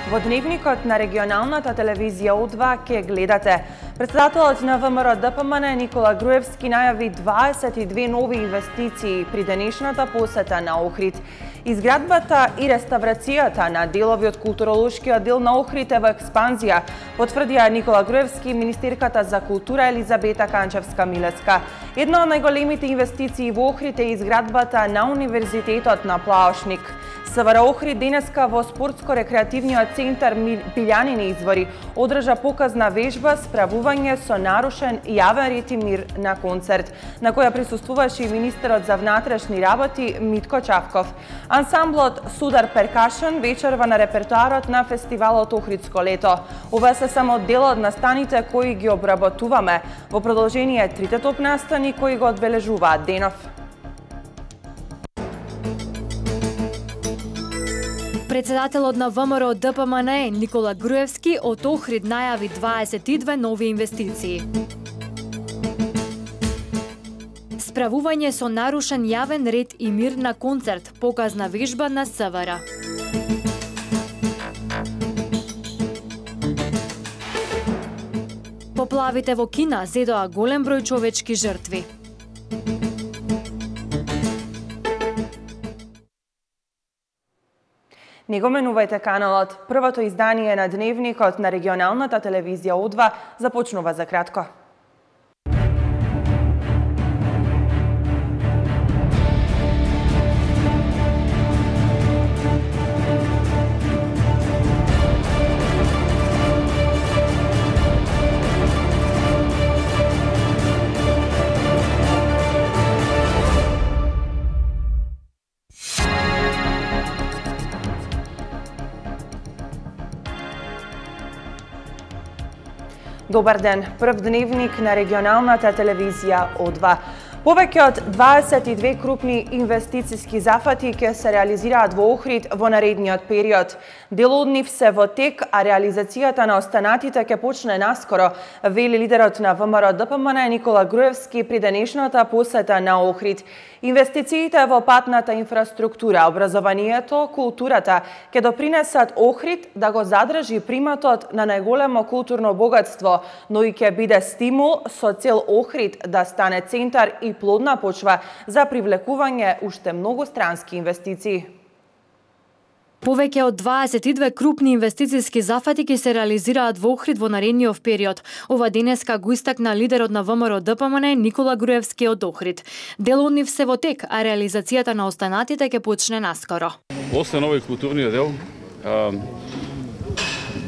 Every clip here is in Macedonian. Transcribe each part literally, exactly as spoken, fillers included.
Во дневникот на регионалната телевизија О два ке гледате. Председателот на Вэ Ем Р Д П М Н Никола Груевски најави дваесет и две нови инвестиции при денешната посета на Охрид. Изградбата и реставрацијата на делови од културолошкиот дел на Охрид е во експанзија, потврдија Никола Груевски и министерката за култура Елизабета Канчевска-Милевска. Една од најголемите инвестиции во Охрид е изградбата на Универзитетот на Плаошник. С В Р Охрид денеска во спортско-рекреативниот центар Пилјанини извори одржа показна вежба справување со нарушен јавен ред и мир на концерт, на која присуствуваше и министерот за внатрешни работи Митко Чавков. Ансамблот Судар Перкашен вечерва на репертоарот на фестивалот Охридско лето. Ова се само дел од настаните кои ги обработуваме. Во продолжение трите топ настани кои го одбележуваат денов. Председателот на Вэ Ем Р Д П М Н Никола Груевски од Охрид најави дваесет и две нови инвестиции. Справување со нарушен јавен ред и мир на концерт, показна вежба на С В Р. Поплавите во Кина зедоа голем број човечки жртви. Не го менувајте каналот. Првото издание на дневникот на регионалната телевизија О два започнува за кратко. Добар ден, прв дневник на регионалната телевизија О два. Повеќе од дваесет и две крупни инвестициски зафати ќе се реализираат во Охрид во наредниот период. Дел од нив се во тек, а реализацијата на останатите ќе почне наскоро, вели лидерот на Вэ Ем Р Д П М Н Никола Груевски при денешната посета на Охрид. Инвестициите во патната инфраструктура, образованието, културата ќе допринесат Охрид да го задржи приматот на најголемо културно богатство, но и ќе биде стимул со цел Охрид да стане центар и плодна почва за привлекување уште многу странски инвестиции. Повеќе од дваесет и две крупни инвестициски зафати ќе се реализираат во Охрид во наредниот период. Ова денеска го истакна лидерот на Вэ Ем Р Д П М Н Никола Груевски од Охрид. Дел од нив се во тек, а реализацијата на останатите ќе почне наскоро. Освен овој културниот дел,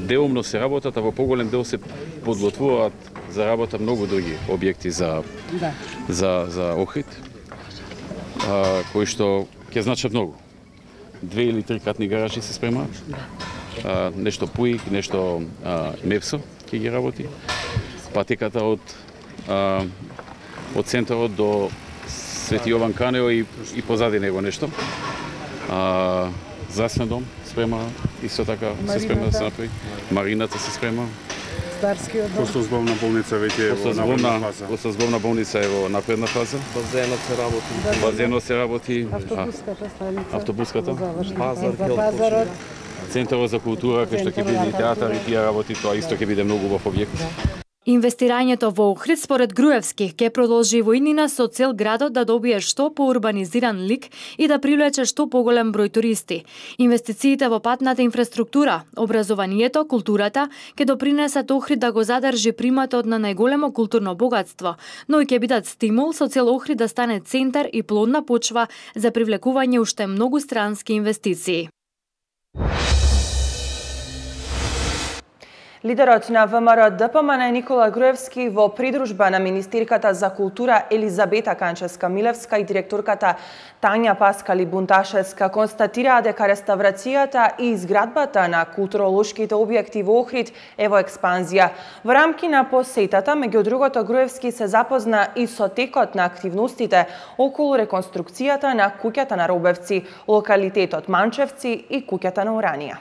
делумно се работат, а во поголем дел се подготвуваат за работа многу други објекти за да. за за Охрид, а, кои што ќе значат многу. Две или три кратни гаражи се спремаат. А, нешто ПУИК, нешто а, МЕПСО ќе ги работи. Патеката од а, од центарот до Свети Јован Канео и, и позади него нешто. А, здравствен дом спрема, исто така се спрема да се направи. Марината се спрема. Костозбовна болница веќе е во напредна фаза. Костозбовна болница е во напредна фаза. Базенот се работи. Базенот се работи. Автобуската станица. Автобуската. Пазар, Пазарот. Центарот за култура, кај што ќе биде и театар и тие работи, тоа исто ќе биде многу убав објект. Инвестирањето во Охрид според Груевски ќе продолжи во иднина со цел градот да добие што поурбанизиран лик и да привлече што поголем број туристи. Инвестициите во патната инфраструктура, образованието, културата ќе допринесат Охрид да го задржи приматот на најголемо културно богатство, но и ќе бидат стимул со цел Охрид да стане центар и плодна почва за привлекување уште многу странски инвестиции. Лидерот на Вэ Ем Р Д П М Н Никола Груевски во придружба на министерката за култура Елизабета Канчевска-Милевска и директорката Тања Паскали Бунташевска констатираа дека реставрацијата и изградбата на културолошките објекти во Охрид е во експанзија. Во рамки на посетата, меѓу другото, Груевски се запозна и со текот на активностите околу реконструкцијата на куќата на Робевци, локалитетот Манчевци и куќата на Уранија.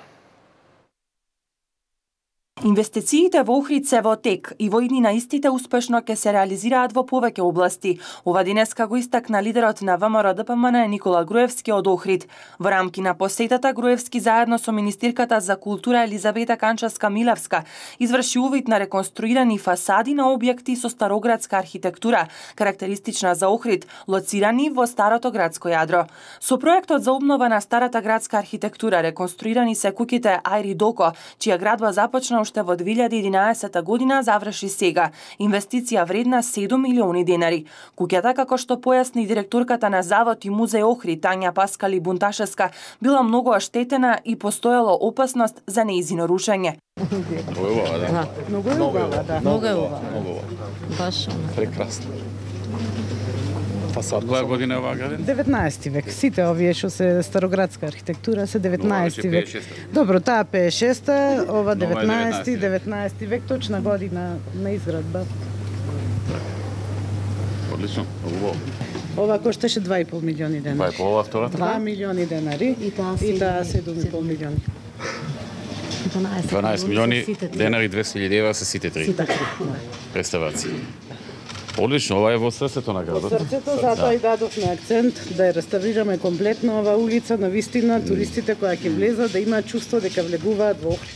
Инвестициите во Охрид се во тек и во иднина истите успешно ќе се реализираат во повеќе области. Ова денеска го истакна лидерот на ВМРО-ДПМН Никола Груевски од Охрид. Во рамки на посетата Груевски заедно со министерката за култура Елизавета Канчевска-Милевска изврши увид на реконструирани фасади на објекти со староградска архитектура, карактеристична за Охрид, лоцирани во старото градско јадро. Со проектот за обнова на старата градска архитектура реконструирани се куќите Ајри Доко, чија градба започна уште во две илјади и единаесета година, заврши сега. Инвестиција вредна седум милиони денари. Куќата, како што појасни директорката на Завод и музеј Охрид Тања Паскали Бунташевска, била многу оштетена и постоело опасност за нејзино рушење. Много е убава, да. Многу е убава, да. Многу е убава. Много убава. Баш. Прекрасно. Фасад. Која година е оваа граден? деветнаесети век. Сите овие што се староградска архитектура се деветнаесети век. Добро, таа пеесет и шеста, ова деветнаесети, деветнаесети век, точна година на изградба. Одлично, убаво. Ова кошташе два и пол милиони денари. Па е по ова втората? два милиони денари И таа и таа седум и пол милиони. дванаесет милиони денари, двесте илјади евра се сите три. Представаци. Одлично, ова е во срцето на градот. Во срцето, затоа и дадовме акцент да ја реставрираме комплетно оваа улица, на вистина туристите кои ќе влезат да имаат чувство дека влегуваат во Охрид.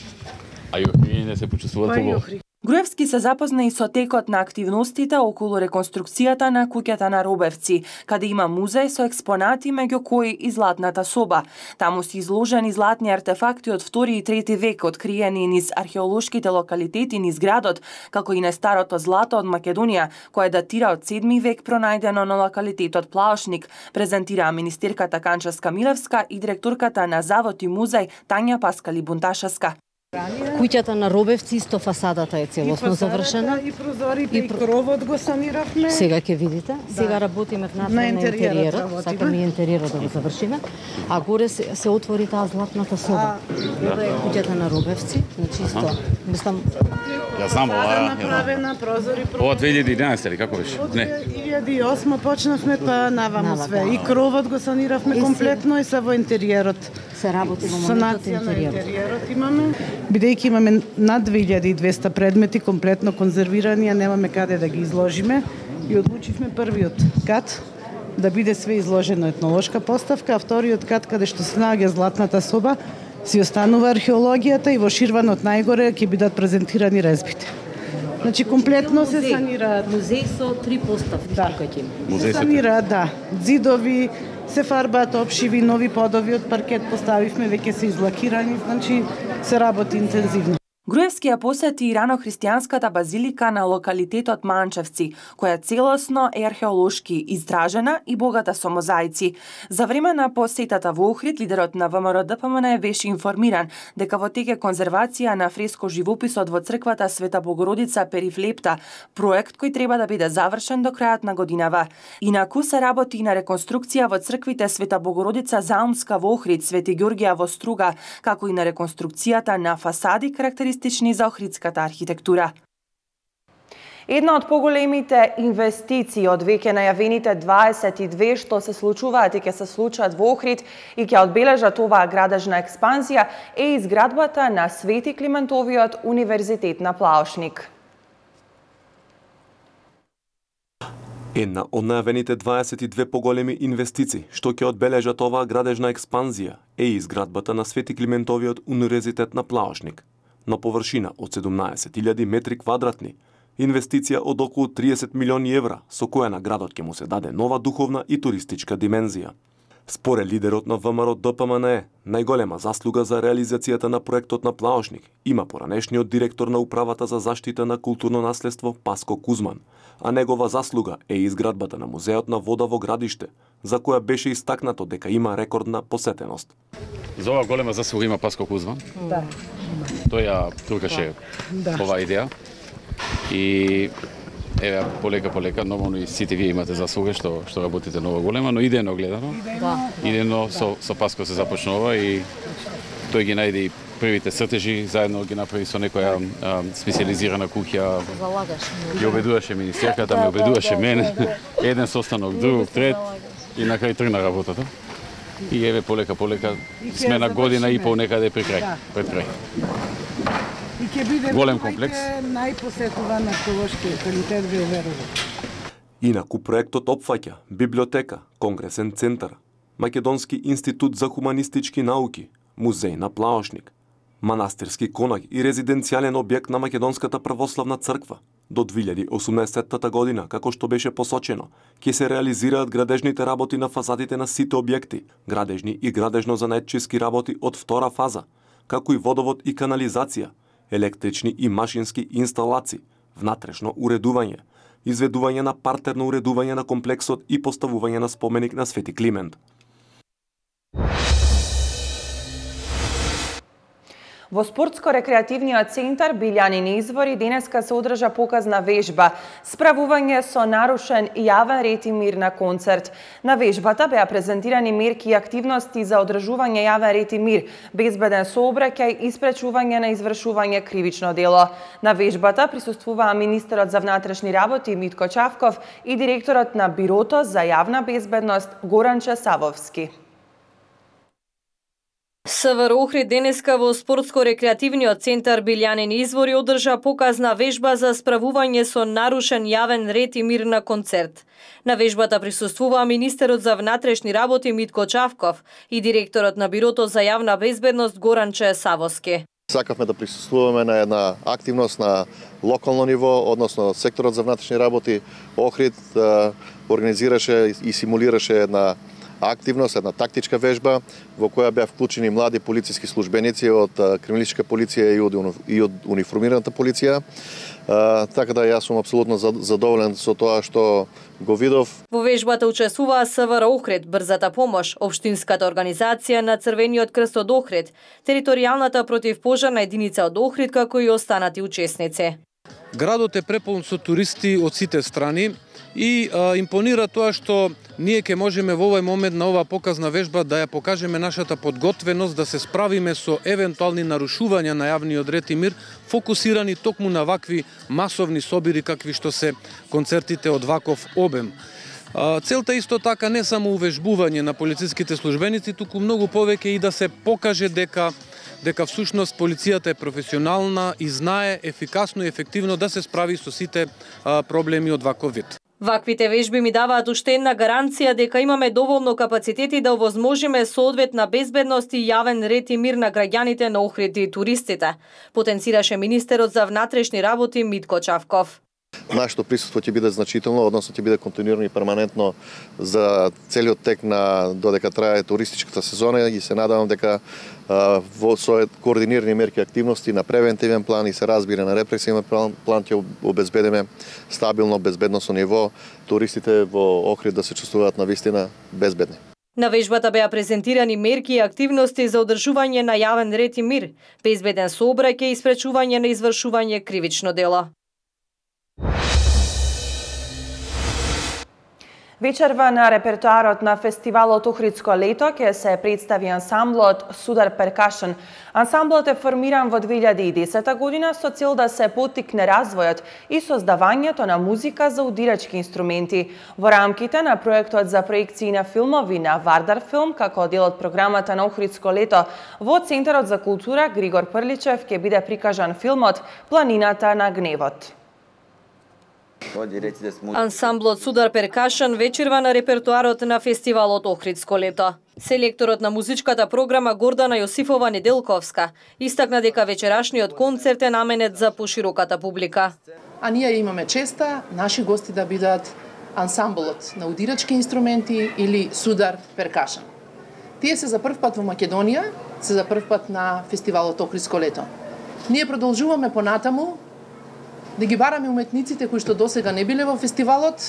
А и охријаните се почувствуваат убаво. Груевски се запозна и со текот на активностите околу реконструкцијата на куќата на Робевци, каде има музеј со експонати меѓу кои и златната соба. Таму се изложени златни артефакти од втори и трети век, откриени низ археолошките локалитети низ градот, како и на старото злато од Македонија, кое датира од седми век, пронајдено на локалитетот Плаошник, презентираа министерката Канчевска-Милевска и директорката на Завод и музеј Тања Паскали Бунташевска. Куќата на Робевци исто фасадата е целосно завршена. И прозорите, и кровот го саниравме. Сега ќе видите. Сега работиме внатре на интериерот. Сакаме и интериерот да го завршиме. А горе се, се отвори таа златната соба. Ова е куќата на Робевци. Значи исто, мислам... Ја знам ова. Направена прозори. Ова две илјади и единаесета или како беше? Не. две илјади и осма почнавме, па наваму све. И кровот го саниравме комплетно и се во интериерот. Се работи во моментот Санација на интериерот. интериерот имаме. Бидејќи имаме над две илјади и двесте предмети комплетно конзервирани, а немаме каде да ги изложиме, и одлучивме првиот кат да биде све изложено етнолошка поставка, а вториот кат каде што се наоѓа златната соба си останува археологијата и во ширванот најгоре ќе бидат презентирани резбите. Значи комплетно се санираат. Музеј со три поставки. Да. Ќе Се санираат, да. Зидови, се фарбаат опшиви, нови подови од паркет поставивме, веќе се излакирани, значи се работи интензивно. Груевски ја посети и рано-христијанската базилика на локалитетот Манчевци, која целосно е археолошки истражена и богата со мозаици. За време на посетата во Охрид, лидерот на ВМРО-ДПМН беше информиран дека во тек е конзервација на фреско живописот во црквата Света Богородица Перифлепта, проект кој треба да биде завршен до крајот на годинава. Инаку се работи и на реконструкција во црквите Света Богородица Заумска во Охрид, Свети Ѓорѓија во Струга, како и на реконструкцијата на фасади карактеристични за охридската архитектура. Една од поголемите инвестиции од веќе најавените дваесет и две што се случуваат и ќе се случат во Охрид и ќе одбележат оваа градежна експанзија е изградбата на Свети Климентовиот универзитет на Плаошник. Една од најавените дваесет и две поголеми инвестиции што ќе одбележат оваа градежна експанзија е изградбата на Свети Климентовиот универзитет на Плаошник, на површина од седумнаесет илјади метри квадратни, инвестиција од околу триесет милиони евра, со која на градот ќе му се даде нова духовна и туристичка димензија. Според лидерот на ВМРО-ДПМН, најголема заслуга за реализацијата на проектот на Плаошник има поранешниот директор на Управата за заштита на културно наследство Паско Кузман, а негова заслуга е изградбата на Музеот на вода во Градиште, за која беше истакнато дека има рекордна посетеност. За ова голема заслуга има Паско Кузман. Да. Тој ја туркаше Да. оваа идеја. И еве полека полека, нормално и сите вие имате заслуга што што работите на ова голема, но идејно гледано. Да. Идејно со со Паско се започнува и тој ги најде и првите цртежи, заедно ги направи со некоја а, специализирана куќа. Залагаш. Ја обедуваше министерката, ме обедуваше мене. Еден состанок, друг, трет и на крај тргна работата. И еве полека полека сме на година и пол некаде при крај, пред крај. И ќе биде голем комплекс. Најпосетуван археолошки локалитет во Верово. Инаку проектот опфаќа библиотека, конгресен центар, Македонски институт за хуманистички науки, музеј на Плаошник, манастирски конак и резиденцијален објект на Македонската православна црква. До две илјади и осумнаесетта година, како што беше посочено, ќе се реализираат градежните работи на фазадите на сите објекти, градежни и градежно-занаетчиски работи од втора фаза, како и водовод и канализација, електрични и машински инсталации, внатрешно уредување, изведување на партерно уредување на комплексот и поставување на споменик на Свети Климент. Во спортско-рекреативниот центар Билјанин извори денеска се одржа показна вежба справување со нарушен јавен ред и мир на концерт. На вежбата беа презентирани мерки и активности за одржување јавен ред и мир, безбеден сообраќај и спречување на извршување кривично дело. На вежбата присуствуваа министерот за внатрешни работи Митко Чавков и директорот на Бирото за јавна безбедност Горанче Савовски. СВР Охрид денеска во спортско-рекреативниот центар Билјанин извори одржа показна вежба за справување со нарушен јавен ред и мир на концерт. На вежбата присуствуваа министерот за внатрешни работи Митко Чавков и директорот на Бирото за јавна безбедност Горанче Савовски. Сакавме да присуствуваме на една активност на локално ниво, односно секторот за внатрешни работи Охрид организираше и симулираше една активност, една тактичка вежба во која беа вклучени млади полициски службеници од криминалистичка полиција и од, и од униформираната полиција. А, така да јас сум апсолутно задоволен со тоа што го видов. Во вежбата учествуваа СВР Охрид, Брзата помош, Општинската организација на Црвениот крст од Охрид, територијалната противпожарна единица од Охрид, како и останати учесници. Градот е преполн со туристи од сите страни и а, импонира тоа што ние ќе можеме во овој момент на оваа показна вежба да ја покажеме нашата подготвеност да се справиме со евентуални нарушувања на јавниот ред и мир, фокусирани токму на вакви масовни собири какви што се концертите од ваков обем. Целта исто така не само увежбување на полициските службеници, туку многу повеќе и да се покаже дека дека всушност полицијата е професионална и знае ефикасно и ефективно да се справи со сите а, проблеми од ваков вид. Ваквите вежби ми даваат уште една гаранција дека имаме доволно капацитети да овозможиме соодветна безбедност и јавен ред и мир на граѓаните на Охрид и туристите, потенцираше министерот за внатрешни работи Митко Чавков. Нашето присуство ќе биде значително, односно ќе биде континуирано и перманентно за целиот тек на додека трае туристичката сезона и се надевам дека а, во со координирани мерки и активности на превентивен план и се разбира на репресивен план, план ќе обезбедиме стабилно безбедносно ниво, туристите во Охрид да се чувствуваат навистина безбедни. На вежбата беа презентирани мерки и активности за одржување на јавен ред и мир, безбеден сообраќај и спречување на извршување кривично дело. Вечерва на репертуарот на фестивалот Охридско лето ќе се представи ансамблот Судар Перкашн. Ансамблот е формиран во две илјади и десета година со цел да се поттикне развојот и создавањето на музика за удирачки инструменти. Во рамките на проектот за проекции на филмови на Вардар Филм, како дел од програмата на Охридско лето, во Центарот за култура Григор Прличев ќе биде прикажан филмот Планината на гневот. Ансамблот Судар Перкашн вечерва на репертуарот на фестивалот Охридско лето. Селекторот на музичката програма Гордана Јосифова Неделковска истакна дека вечерашниот концерт е наменет за пошироката публика. А ние имаме честа наши гости да бидат ансамблот на удирачки инструменти или Судар Перкашн. Тие се за прв пат во Македонија, се за прв пат на фестивалот Охридско лето. Ние продолжуваме понатаму да ги бараме уметниците кои што досега не биле во фестивалот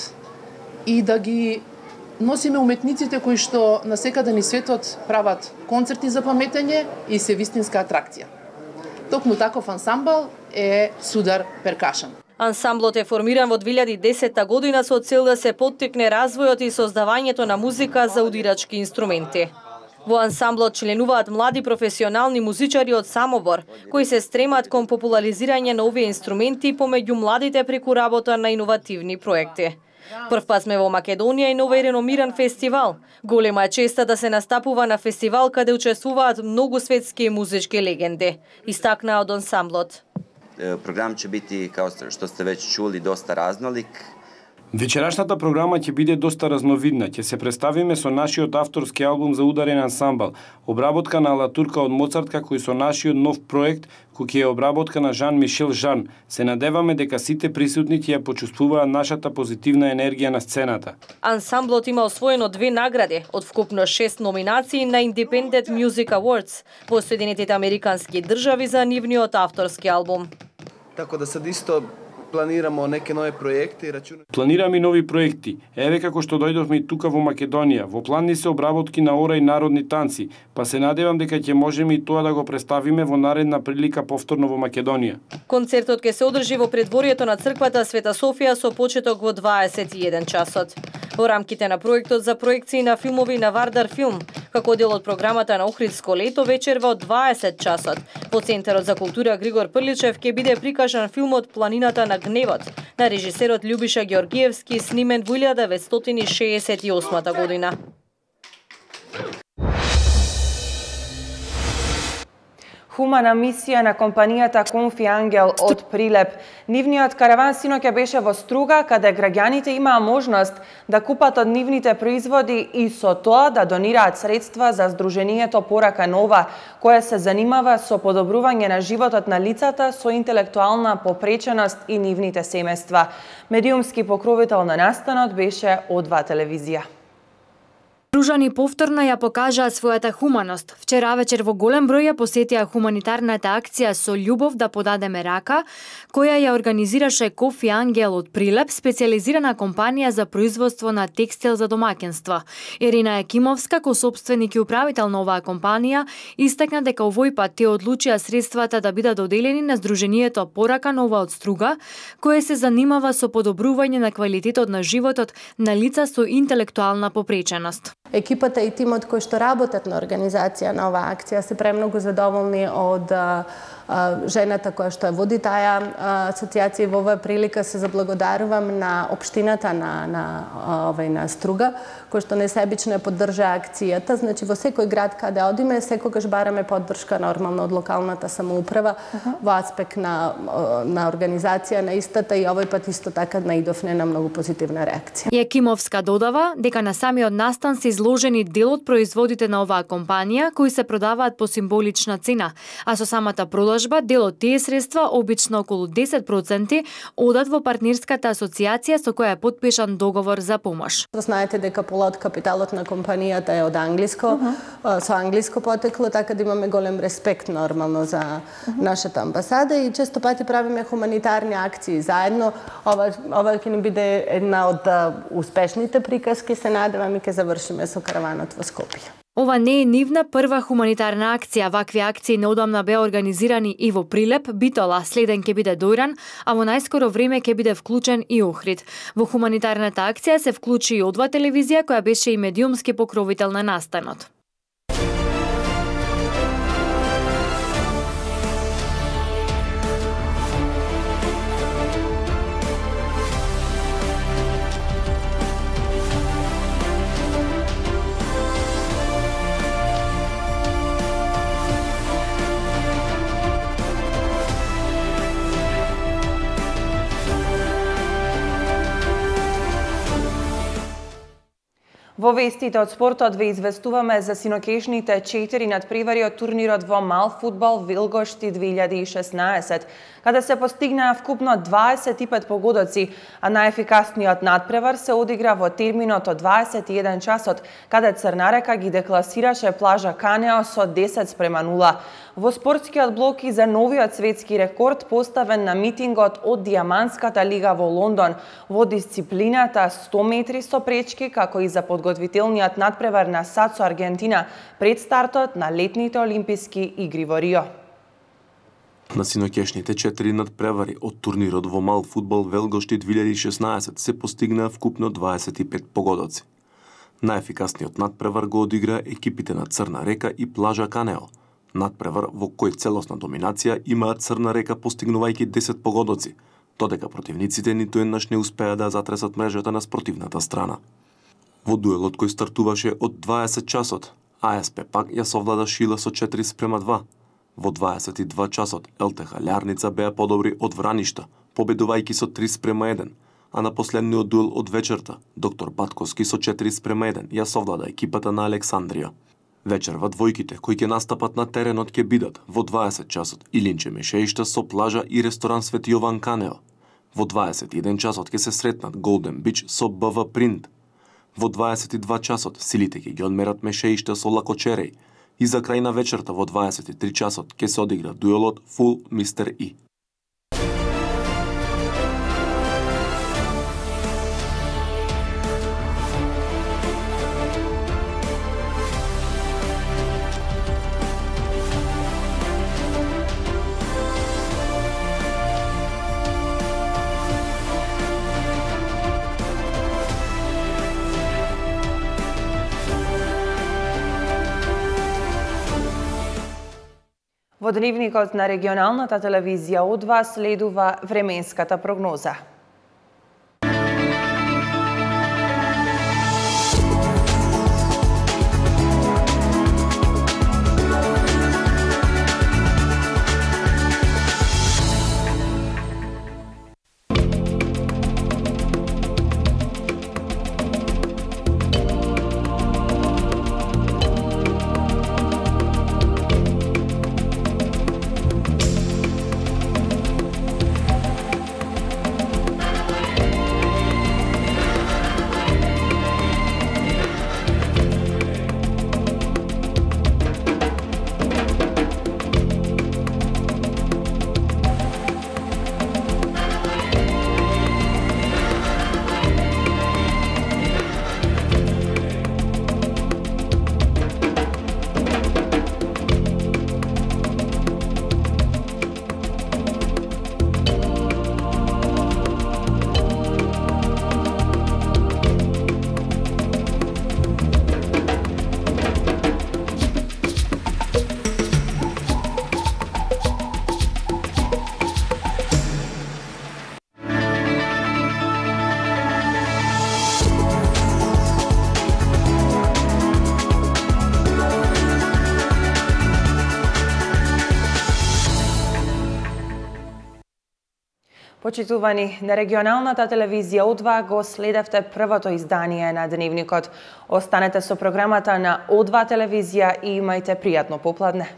и да ги носиме уметниците кои што насекаде низ светот прават концерти за паметење и се вистинска атракција. Токму таков ансамбл е Судар Перкашн. Ансамблот е формиран во две илјади и десета година со цел да се поттикне развојот и создавањето на музика за удирачки инструменти. Во ансамблот членуваат млади професионални музичари од Самобор, кои се стремат кон популаризирање на овие инструменти помеѓу младите преку работа на иновативни проекти. Прв пат сме во Македонија и на овој реномиран фестивал. Голема е честа да се настапува на фестивал каде учествуваат многу светски музички легенди, истакнаа од ансамблот. Програм ќе бити, као што сте веќе чули, доста разнолик. Вечерашната програма ќе биде доста разновидна. Ќе се представиме со нашиот авторски албум за ударен ансамбл, обработка на Латурка од Моцарт, како и со нашиот нов проект, кој ќе е обработка на Жан-Мишел Жан. Се надеваме дека сите присутни ќе ја почувствуваат нашата позитивна енергија на сцената. Ансамблот има освоено две награди од вкупно шест номинации на Independent Music Awards во Соединетите Американски држави за нивниот авторски албум. Така да сад исто планираме неки нови проекти и рачунаме. Планираме нови проекти. Еве како што дојдовме и тука во Македонија. Во план ни се обработки на ора и народни танци, па се надевам дека ќе можеме и тоа да го представиме во наредна прилика повторно во Македонија. Концертот ќе се одржи во предворието на црквата Света Софија со почеток во дваесет и еден часот. Во рамките на проектот за проекции на филмови на Вардар Филм, како дел од програмата на Охридско лето, вечер во дваесет часот, во Центарот за култура Григор Прличев ќе биде прикажан филмот Планината на гневот на режисерот Љубиша Ѓоргиевски, снимен во илјада деветстотини шеесет и осма година. Хумана мисија на компанијата Конфи Ангел од Прилеп. Нивниот караван синоќа беше во Струга, каде граѓаните имаа можност да купат од нивните производи и со тоа да донираат средства за Сдруженијето Порака Нова, кое се занимава со подобрување на животот на лицата со интелектуална попреченост и нивните семејства. Медиумски покровител на настанот беше О два телевизија. Пружани повторно ја покажаа својата хуманост. Вчера вечер во голем број ја посетија хуманитарната акција Со љубов да подадеме рака, која ја организираше Кофи Ангел од Прилеп, специјализирана компанија за производство на текстил за домаќинства. Ирина Екимовска, косопственик и управител на оваа компанија, истакна дека овој пат те одлучија средствата да бидат доделени на Сдруженијето Порака Нова од Струга, кое се занимава со подобрување на квалитетот на животот на лица со интелектуална попреченост. Екипата и тимот кои што работат на организација на оваа акција се премногу задоволни од а, а, жената која што ја води таа асоциација. Во оваа прилика се заблагодарувам на општината на на овај на Струга, кој што несебично ја поддржа акцијата. Значи во секој град каде одиме секогаш бараме поддршка нормално од локалната самоуправа uh -huh. во аспект на на организација на истата и овој пат исто така наидовне на многу позитивна реакција. Екимовска додава дека на самиот настан се изложени дел од производите на оваа компанија кои се продаваат по символична цена, а со самата продажба дел од тие средства, обично околу десет проценти, одат во партнерската асоциација со која е подпишан договор за помош. Знаете дека пола од капиталот на компанијата е од англиско, uh -huh. со англиско потекло, така да имаме голем респект нормално за uh -huh. нашата амбасада и често пати правиме хуманитарни акции заедно. Ова ова ќе ни биде една од успешните приказки, се надевам и ќе завршиме со караванот во Скопје. Ова не е нивна прва хуманитарна акција. Вакви акции неодамна беа организирани и во Прилеп, Битола, следен ќе биде Дојран, а во најскоро време ќе биде вклучен и Охрид. Во хуманитарната акција се вклучи и О два телевизија, која беше и медиумски покровител на настанот. Во вестите од спортот ве известуваме за синокешните четири надпревари од турнирот во мал фудбал Вилгошти две илјади и шеснаесет, каде се постигнаа вкупно дваесет и пет погодоци, а најефикасниот надпревар се одигра во терминот од дваесет и еден часот, каде Црнарека ги декласираше Плажа Канео со десет спрема нула. Во спортскиот блок и за новиот светски рекорд поставен на митингот од Диамантската лига во Лондон во дисциплината сто метри со пречки, како и за подготвителниот надпревар на САД со Аргентина пред стартот на летните олимписки игри во Рио. На синокешните четири надпревари од турнирот во мал фудбал Велгошти две илјади и шеснаесет се постигнаа вкупно дваесет и пет погодоци. Најефикасниот надпревар го одигра екипите на Црна Река и Плажа Канео. Надпревар во кој целосна доминација имаат Црна Река постигнувајќи десет погодоци, додека противниците ниту еднаш не успеа да затресат мрежата на спротивната страна. Во дуелот кој стартуваше од дваесет часот, АСП пак ја совлада Шила со четири спрема два. Во дваесет и два часот ел те ха Лярница беа подобри од Враништа, победувајќи со три спрема еден, а на последниот дуел од вечерта, доктор Батковски со четири спрема еден ја совлада екипата на Александрија. Вечерва двојките кои ќе настапат на теренот ќе бидат во дваесет часот Илинче Мешеишта со плажа и ресторан Свети Јован Канео. Во дваесет и еден часот ќе се сретнат Голден Бич со Б В Принт. Во дваесет и два часот силите ќе ги одмерат Мешеишта со Лакочереј и за крај на вечерта во дваесет и три часот ќе се одигра дуелот Фул Мистер И. Во дневникот на регионалната телевизија О два следува временската прогноза. Почитувани, на регионалната телевизија О два го следевте првото издание на Дневникот. Останете со програмата на О два телевизија и имајте пријатно попладне.